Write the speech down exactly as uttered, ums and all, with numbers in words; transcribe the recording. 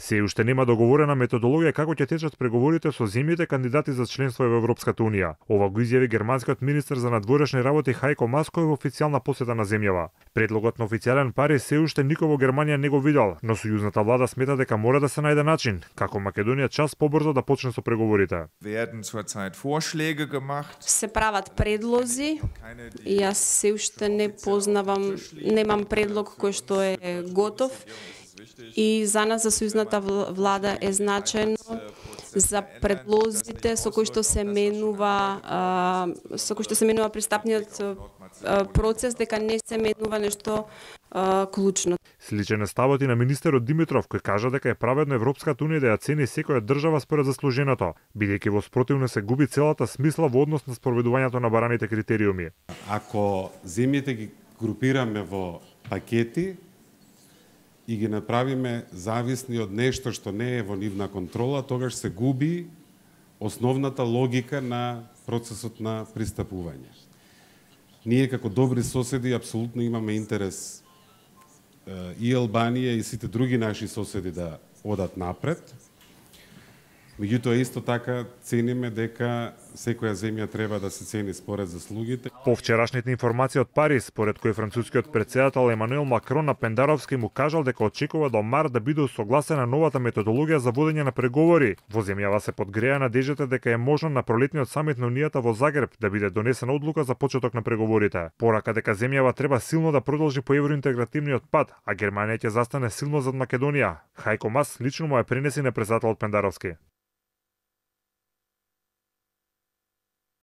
Се уште нема договорена методологија како ќе течат преговорите со земјите кандидати за членство во Европската унија. Ова го изјави германскиот министер за надворешни работи Хајко Мас кој во официјална посета на земјава. Предлогот на официјален пари се уште никој во Германија не го видел, но сојузната влада смета дека мора да се најде начин како Македонија час побрзо да почне со преговорите. Се прават предлози и јас се уште не познавам, немам предлог кој што е готов и за нас за сојузната влада е значајно за предлозите со кои што се менува со кои што се менува пристапниот процес, дека не се менува нешто а, клучно. Сличен е ставот и на министерот Димитров, кој кажа дека е праведно Европската унија да ја цени секоја држава според заслуженото, бидејќи во спротивно се губи целата смисла во однос на спроведувањето на бараните критериуми. Ако земјите ги групираме во пакети и ги направиме зависни од нешто што не е во нивна контрола, тогаш се губи основната логика на процесот на пристапување. Ние како добри соседи апсолутно имаме интерес и Албанија и сите други наши соседи да одат напред. Меѓутоа исто така цениме дека секоја земја треба да се цени според заслугите. По вчерашните информации од Париз, според кој францускиот претседател Емануел Макрон на Пендаровски му кажал дека очекува до март да биде усогласена новата методологија за водење на преговори. Во земјава се подгреа надеждата дека е можно на пролетниот самит на Унијата во Загреб да биде донесена одлука за почеток на преговорите. Порака дека земјава треба силно да продолжи по евроинтегративниот пат, а Германија ќе застане силно зад Македонија. Хајко Мас лично му ја пренеси на претседателот Пендаровски.